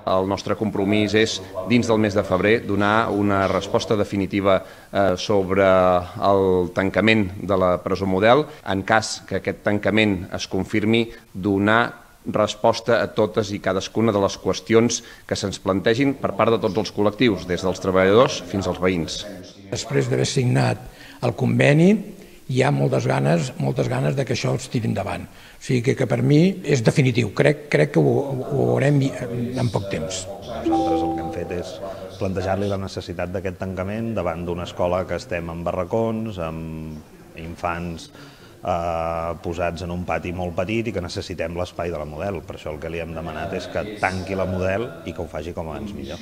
El nostre compromís és, dins del mes de febrer, donar una resposta definitiva sobre el tancament de la presó Model. En cas que aquest tancament es confirmi, donar resposta a totes i cadascuna de les qüestions que se'ns plantegin per part de tots els col·lectius, des dels treballadors fins als veïns. Després d'haver signat el conveni, hi ha moltes ganes de que això es tiri endavant. O sigui que per mi és definitiu. Crec que ho veurem en poc temps. Nosaltres el que hem fet és plantejar-li la necessitat d'aquest tancament davant d'una escola que estem en barracons, amb infants posats en un pati molt petit i que necessitem l'espai de la Model. Per això el que li hem demanat és que tanqui la Model i que ho faci com abans millor.